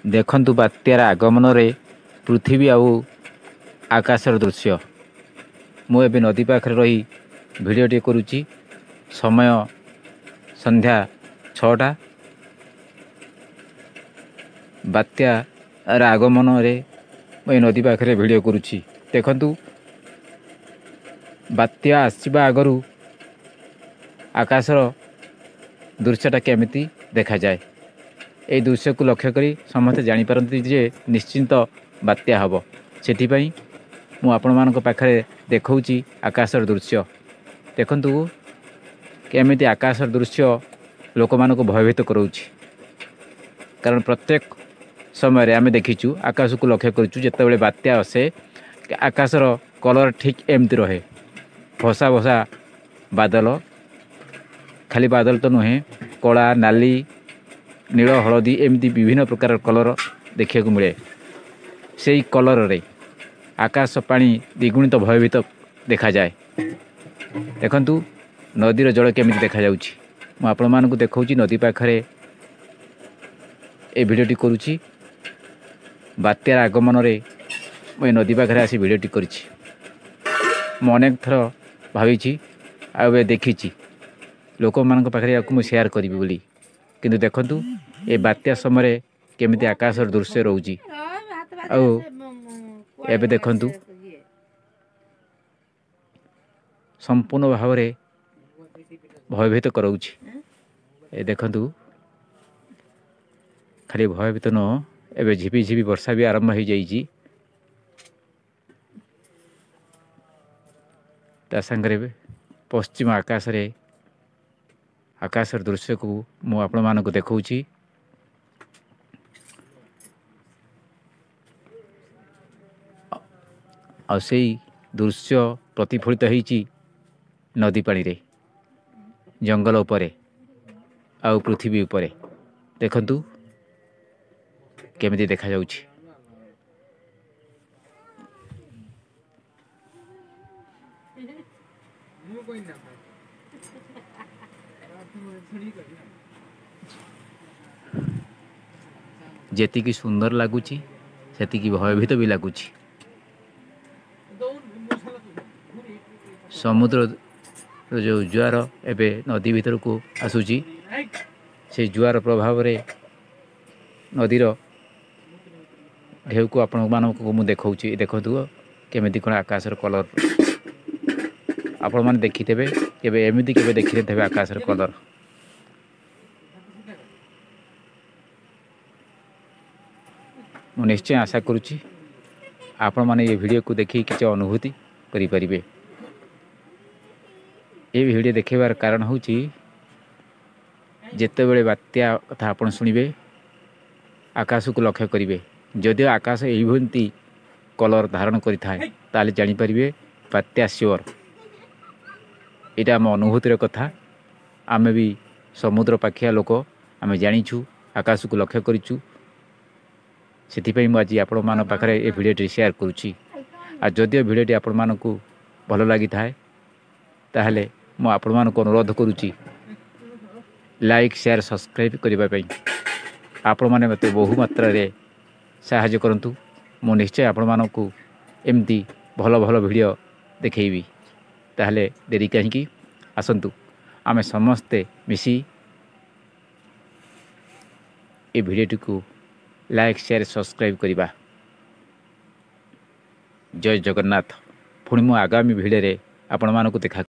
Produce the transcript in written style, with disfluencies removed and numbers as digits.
ଦେଖନ୍ତୁ ବାତ୍ୟାର ଆଗମନରେ ପୃଥିବୀ ଆଉ ଆକାଶର ଦୃଶ୍ୟ। ମୁଁ ଏବେ ନଦୀ ପାଖରେ ରହି ଭିଡ଼ିଓଟି କରୁଛି। ସମୟ ସନ୍ଧ୍ୟା 6ଟା। ବାତ୍ୟାର ଆଗମନରେ ମୁଁ ଏ ନଦୀ ପାଖରେ ଭିଡ଼ିଓ କରୁଛି। ଦେଖନ୍ତୁ ବାତ୍ୟା ଆସିବା ଆଗରୁ ଆକାଶର ଦୃଶ୍ୟଟା କେମିତି ଦେଖାଯାଏ। ଏଇ ଦୃଶ୍ୟକୁ ଲକ୍ଷ୍ୟ କରି ସମସ୍ତେ ଜାଣିପାରନ୍ତି ଯେ ନିଶ୍ଚିନ୍ତ ବାତ୍ୟା ହେବ। ସେଥିପାଇଁ ମୁଁ ଆପଣମାନଙ୍କ ପାଖରେ ଦେଖାଉଛି ଆକାଶର ଦୃଶ୍ୟ। ଦେଖନ୍ତୁ କେମିତି ଆକାଶର ଦୃଶ୍ୟ ଲୋକମାନଙ୍କୁ ଭୟଭୀତ କରାଉଛି। କାରଣ ପ୍ରତ୍ୟେକ ସମୟରେ ଆମେ ଦେଖିଛୁ, ଆକାଶକୁ ଲକ୍ଷ୍ୟ କରିଛୁ, ଯେତେବେଳେ ବାତ୍ୟା ଆସେ ଆକାଶର କଲର୍ ଠିକ୍ ଏମିତି ରହେ, ଭସା ଭସା ବାଦଲ। ଖାଲି ବାଦଲ ତ ନୁହେଁ, କଳା, ନାଲି, ନୀଳ, ହଳଦୀ ଏମିତି ବିଭିନ୍ନ ପ୍ରକାର କଲର୍ ଦେଖିବାକୁ ମିଳେ। ସେଇ କଲର୍ରେ ଆକାଶ ପାଣି ଦ୍ୱିଗୁଣିତ ଭୟଭୀତ ଦେଖାଯାଏ। ଦେଖନ୍ତୁ ନଦୀର ଜଳ କେମିତି ଦେଖାଯାଉଛି। ମୁଁ ଆପଣମାନଙ୍କୁ ଦେଖାଉଛି, ନଦୀ ପାଖରେ ଏ ଭିଡ଼ିଓଟି କରୁଛି। ବାତ୍ୟାର ଆଗମନରେ ମୁଁ ଏ ନଦୀ ପାଖରେ ଆସି ଭିଡ଼ିଓଟି କରିଛି। ମୁଁ ଅନେକ ଥର ଭାବିଛି ଆଉ ଏବେ ଦେଖିଛି ଲୋକମାନଙ୍କ ପାଖରେ ୟାକୁ ମୁଁ ସେୟାର କରିବି ବୋଲି, କିନ୍ତୁ ଦେଖନ୍ତୁ ଏ ବାତ୍ୟା ସମୟରେ କେମିତି ଆକାଶର ଦୃଶ୍ୟ ରହୁଛି। ଆଉ ଏବେ ଦେଖନ୍ତୁ ସମ୍ପୂର୍ଣ୍ଣ ଭାବରେ ଭୟଭୀତ କରାଉଛି। ଏ ଦେଖନ୍ତୁ, ଖାଲି ଭୟଭୀତ ନୁହଁ, ଏବେ ଝିପି ଝିପି ବର୍ଷା ବି ଆରମ୍ଭ ହୋଇଯାଇଛି। ତା ସାଙ୍ଗରେ ପଶ୍ଚିମ ଆକାଶରେ ଆକାଶର ଦୃଶ୍ୟକୁ ମୁଁ ଆପଣମାନଙ୍କୁ ଦେଖାଉଛି। ଆଉ ସେଇ ଦୃଶ୍ୟ ପ୍ରତିଫଳିତ ହେଇଛି ନଦୀ ପାଣିରେ, ଜଙ୍ଗଲ ଉପରେ ଆଉ ପୃଥିବୀ ଉପରେ। ଦେଖନ୍ତୁ କେମିତି ଦେଖାଯାଉଛି। ଯେତିକି ସୁନ୍ଦର ଲାଗୁଛି ସେତିକି ଭୟଭୀତ ବି ଲାଗୁଛି। ସମୁଦ୍ରର ଯେଉଁ ଜୁଆର ଏବେ ନଦୀ ଭିତରକୁ ଆସୁଛି, ସେଇ ଜୁଆର ପ୍ରଭାବରେ ନଦୀର ଢେଉକୁ ଆପଣମାନଙ୍କୁ ମୁଁ ଦେଖାଉଛି। ଦେଖନ୍ତୁ କେମିତି କ'ଣ ଆକାଶର କଲର୍ ଆପଣମାନେ ଦେଖିଥିବେ, କେବେ ଏମିତି କେବେ ଦେଖିନଥିବେ ଆକାଶର କଲର୍। ମୁଁ ନିଶ୍ଚୟ ଆଶା କରୁଛି ଆପଣମାନେ ଏ ଭିଡ଼ିଓକୁ ଦେଖି କିଛି ଅନୁଭୂତି କରିପାରିବେ। ଏ ଭିଡ଼ିଓ ଦେଖାଇବାର କାରଣ ହେଉଛି, ଯେତେବେଳେ ବାତ୍ୟା କଥା ଆପଣ ଶୁଣିବେ ଆକାଶକୁ ଲକ୍ଷ୍ୟ କରିବେ। ଯଦିଓ ଆକାଶ ଏଇଭଳି କଲର୍ ଧାରଣ କରିଥାଏ, ତାହେଲେ ଜାଣିପାରିବେ ବାତ୍ୟା ସିଓର। ଏଇଟା ଆମ ଅନୁଭୂତିର କଥା। ଆମେ ବି ସମୁଦ୍ର ପାଖିଆ ଲୋକ, ଆମେ ଜାଣିଛୁ, ଆକାଶକୁ ଲକ୍ଷ୍ୟ କରିଛୁ। ସେଥିପାଇଁ ମୁଁ ଆଜି ଆପଣମାନଙ୍କ ପାଖରେ ଏ ଭିଡ଼ିଓଟି ସେୟାର କରୁଛି। ଆଉ ଯଦିଓ ଭିଡ଼ିଓଟି ଆପଣମାନଙ୍କୁ ଭଲ ଲାଗିଥାଏ, ତାହେଲେ ମୁଁ ଆପଣମାନଙ୍କୁ ଅନୁରୋଧ କରୁଛି ଲାଇକ୍, ସେୟାର, ସବସ୍କ୍ରାଇବ୍ କରିବା ପାଇଁ। ଆପଣମାନେ ମୋତେ ବହୁ ମାତ୍ରାରେ ସାହାଯ୍ୟ କରନ୍ତୁ, ମୁଁ ନିଶ୍ଚୟ ଆପଣମାନଙ୍କୁ ଏମିତି ଭଲ ଭଲ ଭିଡ଼ିଓ ଦେଖେଇବି। ତାହେଲେ ଡେରି କାହିଁକି, ଆସନ୍ତୁ ଆମେ ସମସ୍ତେ ମିଶି ଏ ଭିଡ଼ିଓଟିକୁ ଲାଇକ୍, ସେୟାର, ସବସ୍କ୍ରାଇବ୍ କରିବା। ଜୟ ଜଗନ୍ନାଥ। ପୁଣି ମୁଁ ଆଗାମୀ ଭିଡ଼ିଓରେ ଆପଣମାନଙ୍କୁ ଦେଖା